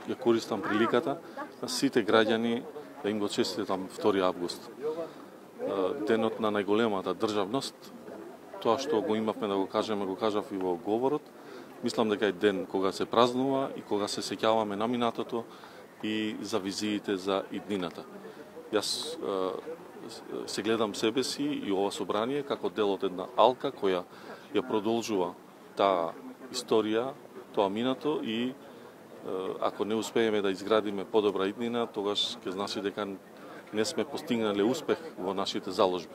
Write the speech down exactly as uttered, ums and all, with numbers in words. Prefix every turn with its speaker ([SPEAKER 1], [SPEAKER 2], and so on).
[SPEAKER 1] ја користам приликата на сите граѓани да им го честитам втори август. Денот на најголемата државност, тоа што го имавме да го кажеме, го кажав и во говорот. Мислам дека е ден кога се празнува и кога се сеќаваме на минатото и за визиите за иднината. Јас се гледам себе си и ова собрание како дел од една алка која ја продолжува таа историја, тоа минато и ако не успееме да изградиме подобра иднина, тогаш ќе значи дека не сме постигнале успех во нашите заложби.